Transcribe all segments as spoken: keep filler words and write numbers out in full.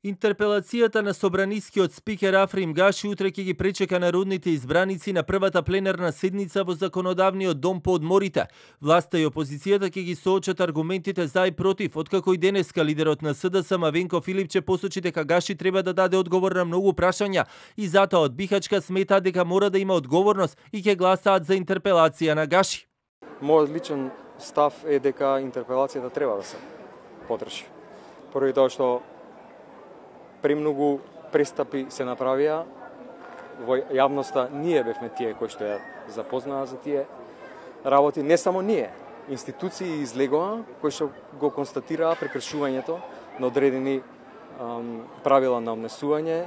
Интерпелацијата на собранискиот спикер Африм Гаши утре ќе ги пречека народните избраници на првата пленарна седница во законодавниот дом по одморите. Власта и опозицијата ќе ги соочат аргументите за и против, откако и денеска лидерот на СДСМ Венко Филипче посочи дека Гаши треба да даде одговор на многу прашања и затоа од Бихачка сметаат дека мора да има одговорност и ќе гласаат за интерпелација на Гаши. Мојот личен став е дека интерпелацијата треба да се потрши. Поради тоа што премногу престапи се направија во јавноста, ние бевме тие кои што ја запознаа за тие работи, не само ние, институции излегоа кои што го констатираа прекршувањето на одредени ам, правила на однесување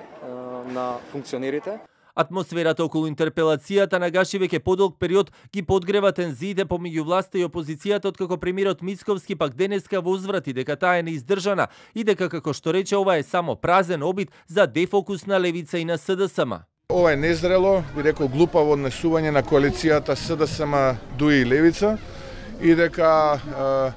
на функционерите. Атмосферата околу интерпелацијата на Гаши веќе подолг период ги подгрева тензиите помеѓу власта и опозицијата, откако премиерот Мицковски пак денеска возврати дека таа е неиздржана и дека, како што рече, ова е само празен обид за дефокус на левица и на СДСМ. Ова е незрело, би рекол глупаво однесување на коалицијата СДСМ дуи и левица и дека е,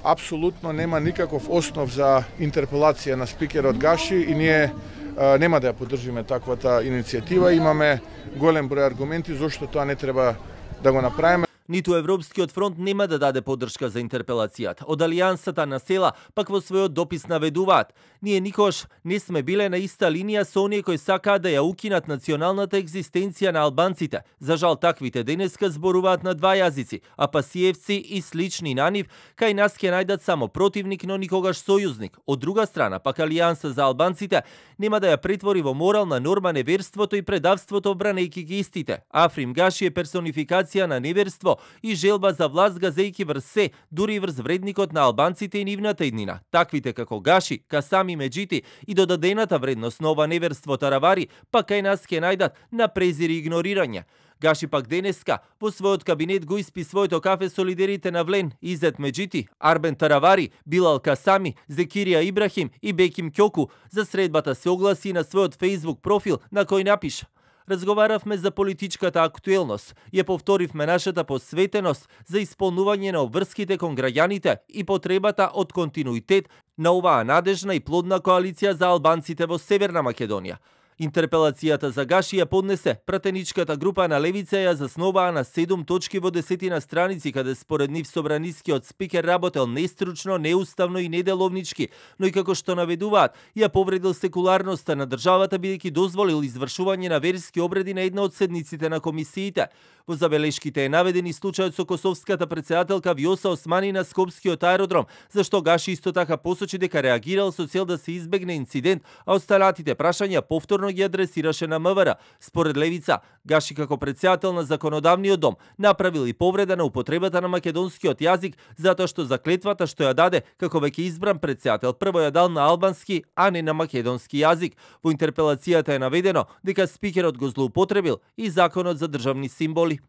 апсолутно нема никаков основ за интерпелација на спикерот Гаши и ние нема да ја поддржиме таквата иницијатива. Имаме голем број аргументи зошто тоа не треба да го направиме. Ниту Европскиот фронт нема да даде поддршка за интерпелацијата. Од Алијансата на села пак во својот допис наведуваат: ние никош не сме биле на иста линија со оние кои сакаат да ја укинат националната екзистенција на албанците. За жал, таквите денеска зборуваат на два јазици, а пасиевци и слични на нив кај нас ќе најдат само противник, но никогаш сојузник. Од друга страна, пак Алијанса за албанците нема да ја претвори во морална норма неверството и предавството, бранејќи ги истите. Африм Гаши е персонификација на неверство и желба за власт газејки врз се, дури и врз вредникот на албанците и нивната иднина. Таквите како Гаши, Касами Меджити и додадената вредност на ова неверство таравари, пак кај нас ќе најдат на презир и игнорирање. Гаши пак денеска во својот кабинет го испи своето кафе со лидерите на Влен, Изет Меджити, Арбен Таравари, Билал Касами, Зекирија Ибрахим и Беким Кјоку. За средбата се огласи на својот Facebook профил на кој напиша: разговаравме за политичката актуелност, ја повторивме нашата посветеност за исполнување на обврските кон граѓаните и потребата од континуитет на оваа надежна и плодна коалиција за албанците во Северна Македонија. Интерпелацијата за Гаши ја поднесе пратеничката група на левица, ја засноваа на седум точки во десетина страници, каде според нив собранискиот спикер работел нестручно, неуставно и неделовнички, но и како што наведуваат, ја повредил секуларноста на државата, бидејќи дозволил извршување на верски обреди на една од седниците на комисиите. Во забелешките е наведен и случајот со косовската претседателка Вјоса Османи на Скопскиот аеродром, зашто Гаши исто така посочи дека реагирал со цел да се избегне инцидент, а останатите прашања повторно ги адресираше на МВР. Според левица, Гаши како претседател на законодавниот дом направил и повреда на употребата на македонскиот јазик, затоа што заклетвата што ја даде како веќе избран претседател прво ја дал на албански, а не на македонски јазик. Во интерпелацијата е наведено дека спикерот го злоупотребил и законот за државни символи.